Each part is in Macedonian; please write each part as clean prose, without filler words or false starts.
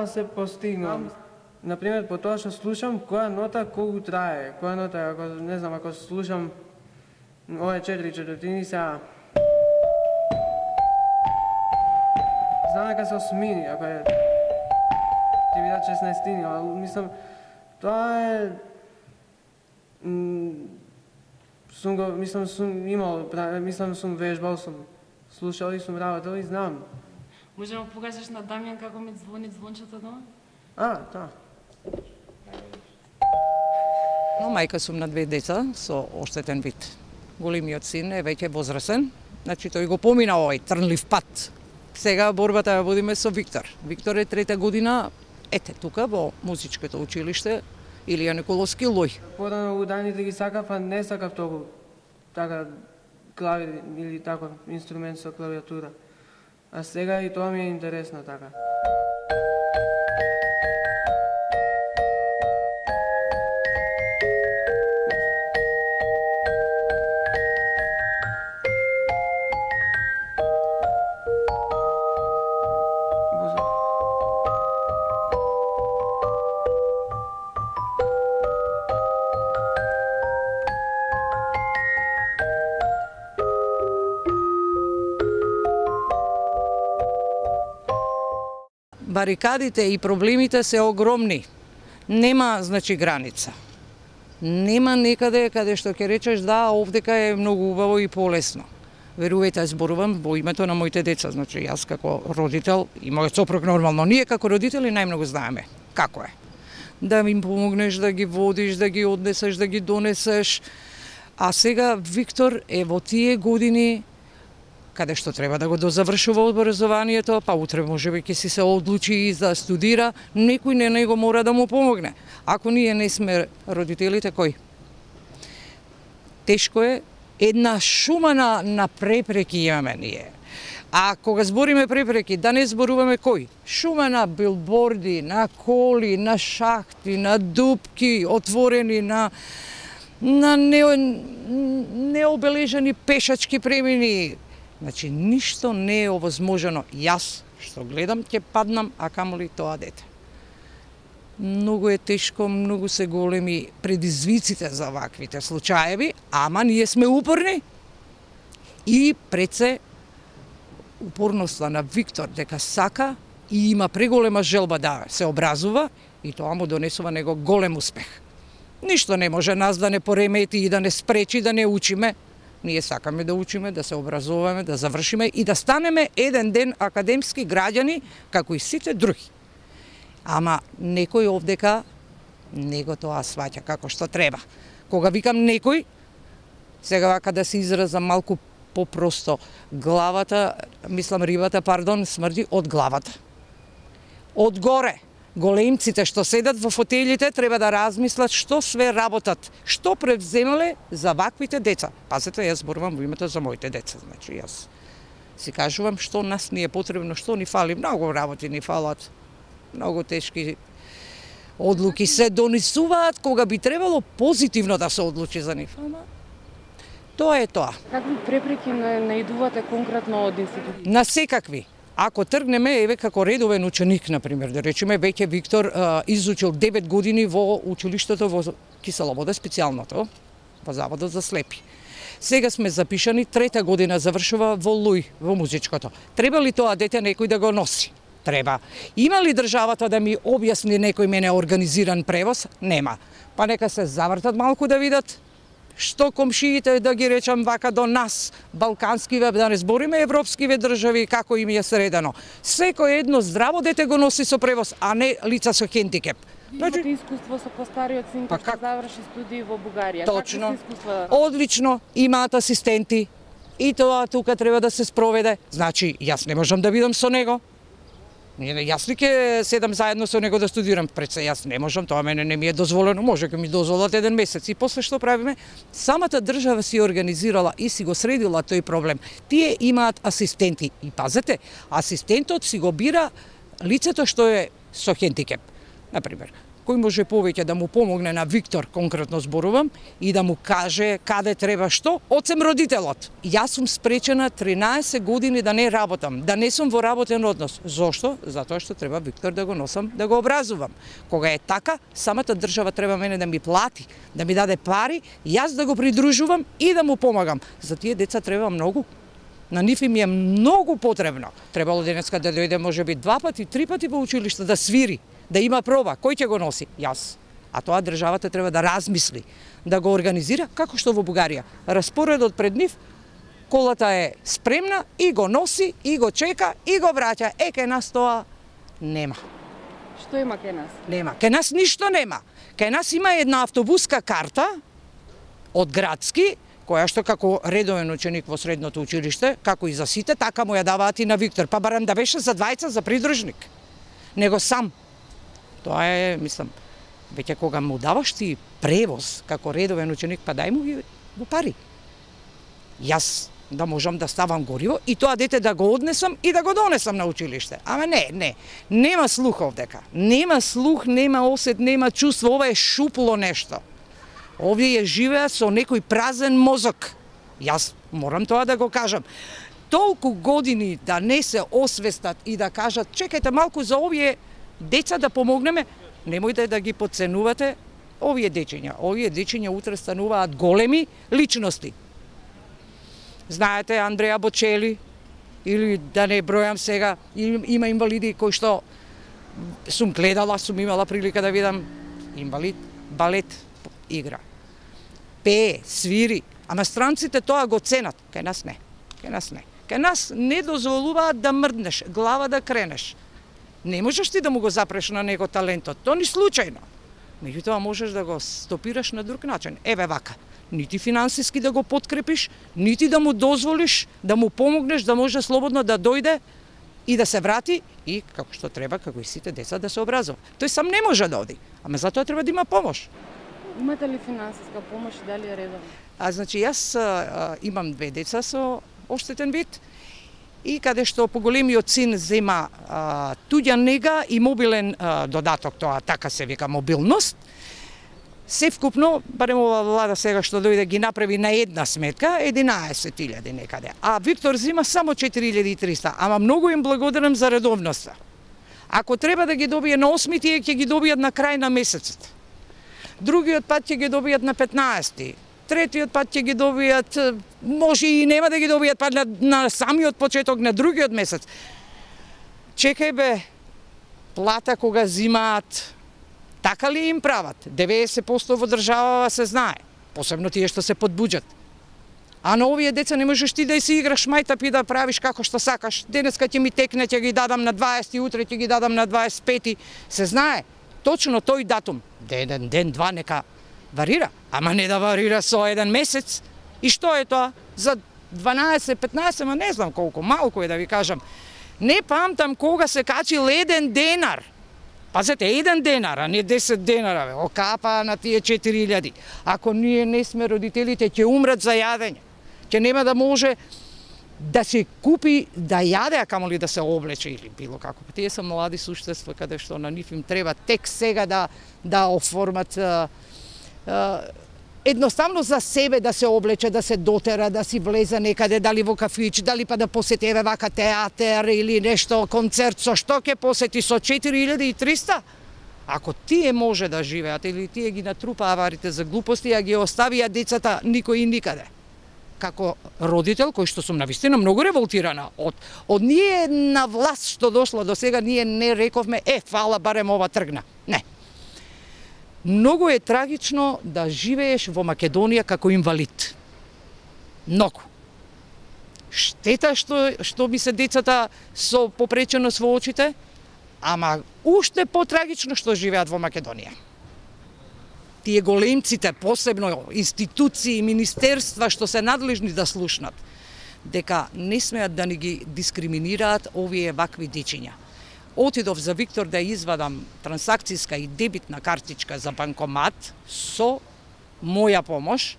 да се постигнам. Например, по тоа што слушам, која нота колку трае, која нота, ако не знам, ако слушам овие 4/4 сега. Знам дека се осмини, ако е ќе видат 16, ама мислам тоа е сум имал, сум вежбал, сум слушал и сум работел и знам. Можеме да покажеш на Дамјан како ми звони звончето дома? Да. Но мајка сум на 2 деца со оштетен вид. Големиот син е веќе возрасен, значи тој го помина овој трнлив пат. Сега борбата ја водиме со Виктор. Виктор е 3-та година, ете тука во музичкото училиште Илија Николовски Лој. Порано ударните ги сакав, а не сакав толку така клавир или таков инструмент со клавиатура. А сега и тоа ми е интересно така. Барикадите и проблемите се огромни. Нема, значи, граница. Нема некаде каде што ќе речеш да, овдека е многу убаво и полесно. Верувајте, зборувам во името на моите деца, значи јас како родител и мојот сопруг нормално. Ние како родители најмногу знаеме како е. Да им помогнеш, да ги водиш, да ги однесеш, да ги донесеш. А сега Виктор е во тие години каде што треба да го дозавршува образованието, па утре можеби ќе си се одлучи да студира, некој не него мора да му помогне. Ако ние не сме родителите, кој? Тешко е, една шума на препреки имаме ние. А кога збориме препреки, да не зборуваме кој? Шума на билборди, на коли, на шахти, на дупки отворени, на необележани пешачки премини. Значи, ништо не е овозможено. Јас, што гледам, ќе паднам, а камоли тоа дете. Многу е тешко, многу се големи предизвиците за ваквите случаеви, ама ние сме упорни и пред се упорноста на Виктор дека сака и има преголема желба да се образува и тоа му донесува него голем успех. Ништо не може нас да не поремети и да не спречи да не учиме. Ние сакаме да учиме, да се образуваме, да завршиме и да станеме еден ден академски граѓани, како и сите други. Ама некој овдека не го тоа сваќа како што треба. Кога викам некој, сега вака да се изразам малку попросто, рибата, смрди од главата. Од горе. Големците што седат во фотелите треба да размислат што све работат, што превземале за ваквите деца. Пазете, јас зборувам во името за моите деца, значи јас си кажувам што нас ни е потребно, што ни фали, многу работи ни фалат, многу тешки одлуки се донесуваат кога би требало позитивно да се одлучи за нив. Тоа е тоа. Какви препреки наидувате конкретно од институтите? На секакви. Ако тргнеме, еве како редовен ученик, например, да речеме, веќе Виктор изучил 9 години во училиштето во Кисела Вода, специјалното, во Заводот за слепи. Сега сме запишани, 3-та година завршува во Луј, во музичкото. Треба ли тоа дете некој да го носи? Треба. Има ли државата да ми објасни некој мене организиран превоз? Нема. Па нека се завртат малку да видат што комшиите, да ги речам вака, до нас, балканскиве, да не збориме европскиве држави, како им е средено. Секој едно здраво дете го носи со превоз, а не лица со хендикеп. Имате искуство со постариот син кој што заврши студии во Бугарија. Точно. Одлично, имаат асистенти. И тоа тука треба да се спроведе. Значи, јас не можам да бидам со него. Јас ли ќе седам заедно со него да студирам? Пред се јас не можам, тоа мене не ми е дозволено, може ќе ми дозволат еден месец. И после што правиме? Самата држава си организирала и си го средила тој проблем. Тие имаат асистенти. И пазете, асистентот си го бира лицето што е со хендикеп. Например, кој може повеќе да му помогне на Виктор, конкретно зборувам, и да му каже каде треба што, осем родителот. Јас сум спречена 13 години да не работам, да не сум во работен однос. Зошто? Затоа што треба Виктор да го носам, да го образувам. Кога е така, самата држава треба мене да ми плати, да ми даде пари, јас да го придружувам и да му помагам. За тие деца треба многу. На нив им е многу потребно. Требало денеска да дојде можеби 2 пати, 3 пати во училиште да свири, да има проба. Кој ќе го носи? Јас. А тоа државата треба да размисли, да го организира како што во Бугарија. Распоредот пред нив, колата е спремна и го носи, и го чека, и го враќа. Кај нас тоа нема. Што има кај нас? Нема. Кај нас ништо нема. Кај нас има една автобуска карта од градски, која што како редовен ученик во средното училиште, како и за сите, така му ја даваат и на Виктор. Па барам да беше за двајца за придружник. Него сам. Тоа е, мислам, веќе кога му даваш ти превоз како редовен ученик, па дај му ги во пари. Јас да можам да ставам гориво и тоа дете да го однесам и да го донесам на училиште. Ама не. Нема слух овдека. Нема слух, нема осет, нема чувство. Ова е шупло нешто. Овие живеат со некој празен мозок. Јас морам тоа да го кажам. Толку години да не се освестат и да кажат, чекајте малку за овие деца да помогнеме, немојте да ги потценувате овие дечиња. Овие дечиња утре стануваат големи личности. Знаете, Андреја Бочели, или да не бројам сега, има инвалиди кои што сум гледала, сум имала прилика да видам инвалид, балет игра. Пее, свири, ама странците тоа го ценат. Кај нас не. Кај нас не дозволуваат да мрднеш, глава да кренеш. Не можеш ти да му го запреш на него талентот, то ни случајно. Меѓутоа можеш да го стопираш на друг начин. Еве вака, нити финансиски да го подкрепиш, нити да му дозволиш, да му помогнеш да може слободно да дојде и да се врати и како што треба, како и сите деца да се образува. Тој сам не може да оди, ама затоа треба да има помош. Имате ли финансиска помош и дали е редовно? Значи јас имам 2 деца со оштетен вид и каде што поголемиот син зема туѓа нега и мобилен додаток, тоа така се вика мобилност. Се вкупно, барем ова влада сега што дојде ги направи на една сметка 11.000 некаде. А Виктор зема само 4.300, ама многу им благодарам за редовноста. Ако треба да ги добие на 8, тие ќе ги добијат на крај на месецот. Другиот пат ќе ги добијат на 15. Третиот пат ќе ги добијат, може и нема да ги добијат пат на самиот почеток на другиот месец. Чекај бе, плата кога зимаат, така ли им прават? 90% во државава се знае, посебно тие што се под буџет. А на овие деца не можеш ти да си играш мајтап и да правиш како што сакаш. Денеска ќе ми текне, ќе ги дадам на 20, утре ќе ги дадам на 25, се знае. Точно тој датум, ден, два, нека варира, ама не да варира со еден месец. И што е тоа? За 12-15, ма не знам колку, малку е да ви кажам. Не памтам кога се качил 1 денар. Пазете, 1 денар, а не 10 денара, бе. Окапа на тие 4.000. Ако ние не сме родителите, ќе умрат за јадење. Ќе нема да може да се купи да јаде, а камоли да се облече или било како. Тие се млади суштества каде што на нив им треба тек сега да оформат едноставно за себе да се облече, да се дотера, да си влезе некаде, дали во кафич, дали па да посети еве вака театар или нешто, концерт, со што ќе посети со 4.300? Ако тие може да живеат или тие ги натрупаа аварите за глупости, а ги оставија децата никој и никаде. Како родител, кој што сум навистина многу револтирана од ние на власт што дошло до сега, ние не рековме, фала, барем ова тргна. Не. Многу е трагично да живееш во Македонија како инвалид. Многу. Штета што ми се децата со попреченост во очите, ама уште потрагично што живеат во Македонија. Тие големците, посебно институции, министерства што се надлежни да слушнат, дека не смеат да ни ги дискриминираат овие вакви дечиња. Отидов за Виктор да извадам трансакцијска и дебитна картичка за банкомат со моја помош.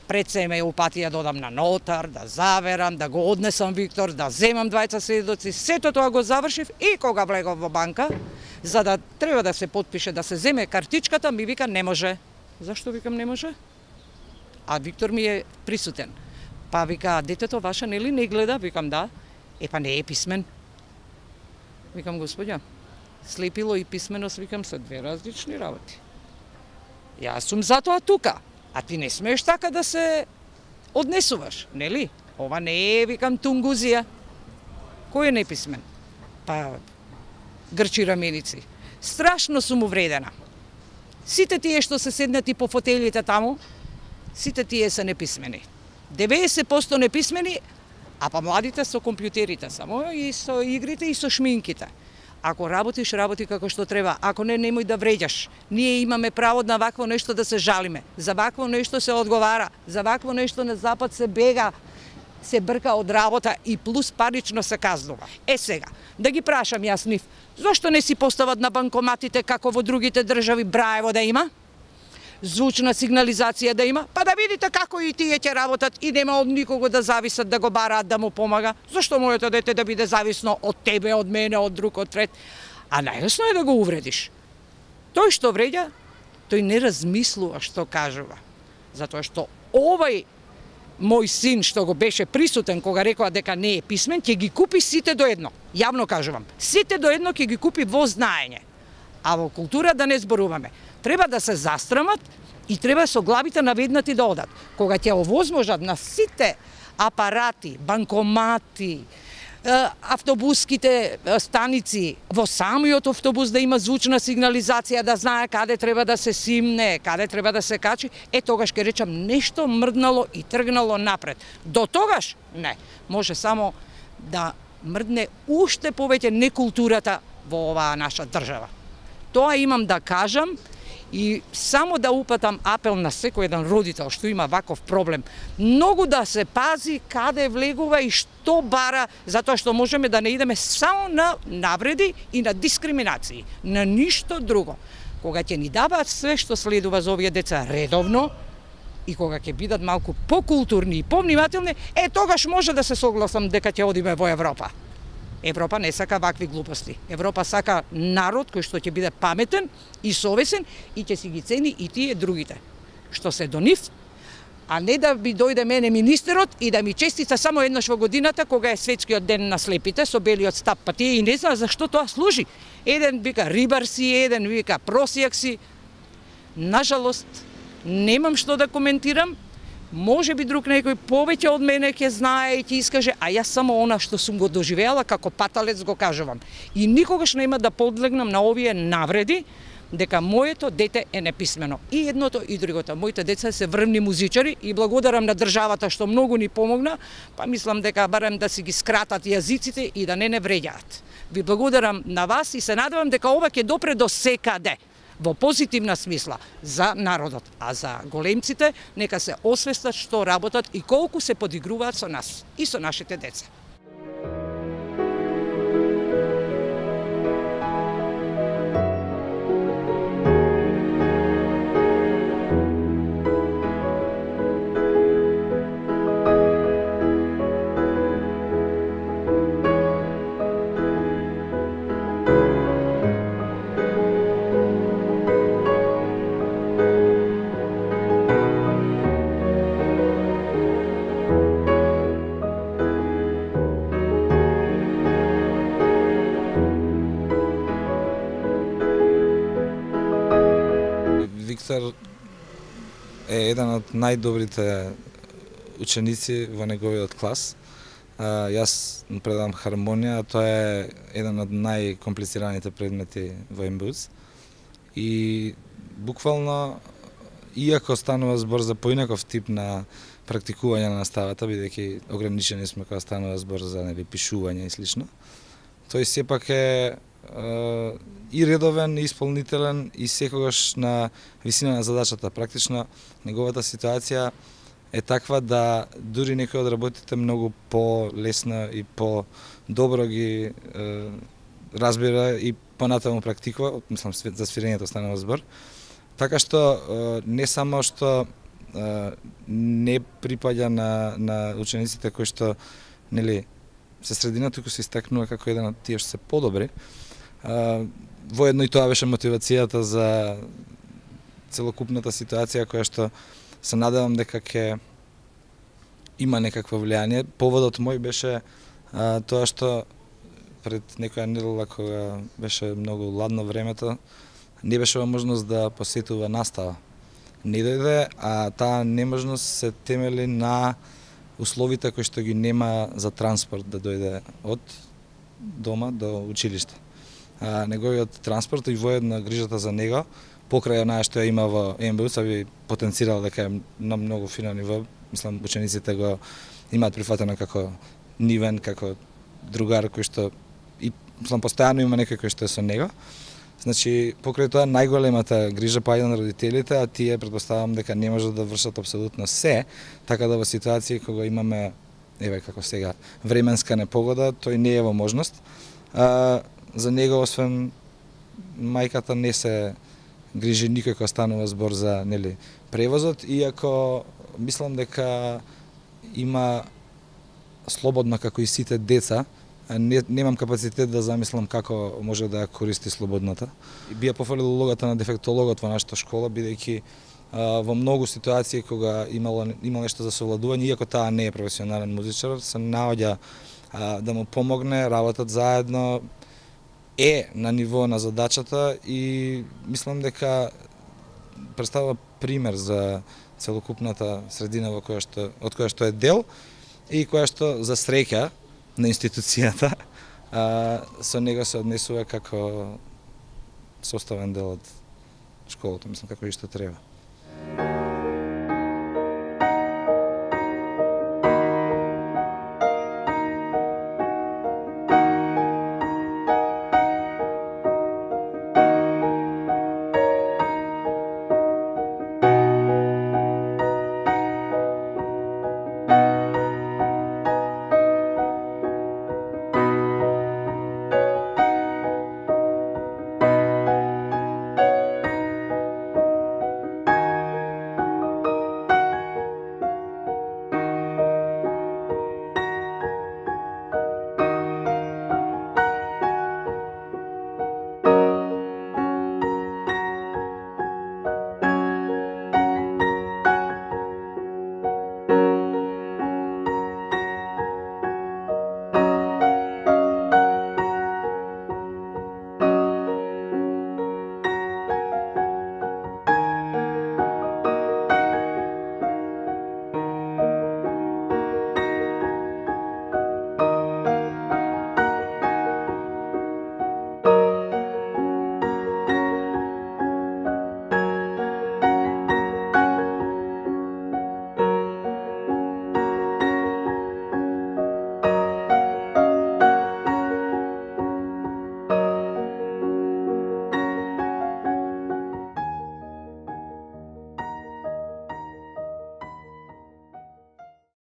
Пред се ме упатија да одам на нотар, да заверам, да го однесам Виктор, да земам 2 сведоци. Сето тоа го завршив и кога влегов во банка, За да треба да се потпише, да се земе картичката, ми вика не може. Зашто викам не може? А Виктор ми е присутен. Па вика, детето ваше нели не гледа? Викам да. Па не е писмен. Викам, господја, слепило и писменост, викам, се две различни работи. Јас сум затоа тука, а ти не смееш така да се однесуваш, нели? Ова не е, викам, тунгузија. Кој е неписмен? Па, грчи раменици. Страшно сум увредена. Сите тие што се седнати по фотелите таму, сите тие се неписмени. 90% неписмени, а па младите со компјутерите само и со игрите и со шминките. Ако работиш, работи како што треба. Ако не, немој да вреđаш. Ние имаме право на вакво нешто да се жалиме. За вакво нешто се одговара. За вакво нешто на Запад се бега, се брка од работа и плюс парично се казнува. Сега, да ги прашам јас нив, зошто не си постават на банкоматите како во другите држави Браево да има? Звучна сигнализација да има, па да видите како и тие ќе работат и нема од никого да зависат да го бараат да му помага. Зашто моето дете да биде зависно од тебе, од мене, од друг, од трет? А најлесно е да го увредиш. Тој што вреѓа, тој не размислува што кажува. Затоа што овај мој син што го беше присутен кога рекоа дека не е писмен, ќе ги купи сите до едно. Јавно кажувам. Сите до едно ќе ги купи во знаење. А во култура да не зборуваме. Треба да се застрамат и треба со главите наведнати да одат. Кога ќе овозможат на сите апарати, банкомати, автобуските станици, во самиот автобус да има звучна сигнализација, да знае каде треба да се симне, каде треба да се качи, тогаш ќе речам нешто мрднало и тргнало напред. До тогаш не, може само да мрдне уште повеќе некултурата во оваа наша држава. Тоа имам да кажам и само да упатам апел на секој еден родител што има ваков проблем. Многу да се пази каде влегува и што бара, затоа што можеме да не идеме само на навреди и на дискриминации, на ништо друго. Кога ќе ни даваат све што следува за овие деца редовно и кога ќе бидат малку покултурни и повнимателни, тогаш може да се согласам дека ќе одиме во Европа. Европа не сака вакви глупости. Европа сака народ кој што ќе биде паметен и совесен и ќе си ги цени и тие другите. Што се до нив, а не да би дојде мене министерот и да ми честита само еднаш во годината кога е светскиот ден на слепите со белиот стап, па тие и не знаат за што тоа служи. Еден вика рибар си, еден вика просијак си. Нажалост, немам што да коментирам. Може би друг некој повеќе од мене ќе знае и ќе искаже, а јас само она што сум го доживеала како паталец го кажувам. И никогаш нема да подлегнам на овие навреди дека моето дете е неписмено. И едното и другото. Моите деца се врвни музичари и благодарам на државата што многу ни помогна, па мислам дека барем да си ги скратат јазиците и да не вреѓаат. Ви благодарам на вас и се надевам дека ова ќе допре до секаде. Во позитивна смисла за народот, а за големците нека се освестат што работат и колку се подигруваат со нас и со нашите деца. Виктор е еден од најдобрите ученици во неговиот клас. Јас предавам хармонија, а тоа е еден од најкомплицираните предмети во МБУЦ. И буквално, иако станува збор за поинаков тип на практикување на наставата, бидејќи ограничени сме кога станува збор за пишување и слично, тој сепак е и редовен, и исполнителен и секогаш на висина на задачата. Практично неговата ситуација е таква да дури некои од работите многу по-лесно и по-добро ги разбира и понатаму практикува, мислам за свирењето станува збор. Така што не само што не припаѓа на учениците кои што нели се средина, туку се истакнува како еден од тие што се подобри, Воедно и тоа беше мотивацијата за целокупната ситуација која што се надевам дека ќе има некакво влијание. Поводот мој беше тоа што пред некоја недела кога беше многу ладно времето, не беше можност да посетува настава. Не дојде, а таа неможност се темели на условите кои што ги нема за транспорт да дојде од дома до училиште. Неговиот транспорт и воедно грижата за него, покрај онаа што ја има во МБУ, се би потенцирал дека е на многу фино ниво. Мислам, учениците го имаат прифатено како нивен, како другар кој што и мислам постојано има некој кој што е со него. Значи, покрај тоа најголемата грижа паѓа на родителите, а тие претпоставам дека не можат да вршат апсолутно се, така да во ситуација кога имаме, еве како сега, временска непогода, тој не е во можност. За него, освен мајката, не се грижи никој кога станува збор за превозот, иако мислам дека има слободно како и сите деца, немам капацитет да замислам како може да ја користи слободната. Бија пофалил улогата на дефектологот во нашата школа, бидејќи во многу ситуации кога има нешто за совладување, иако таа не е професионален музичар, се наоѓа да му помогне, работат заедно, е на ниво на задачата и мислам дека представува пример за целокупната средина од која што е дел и која што за среќа на институцијата со него се однесува како составен дел од школата, мислам како и што треба.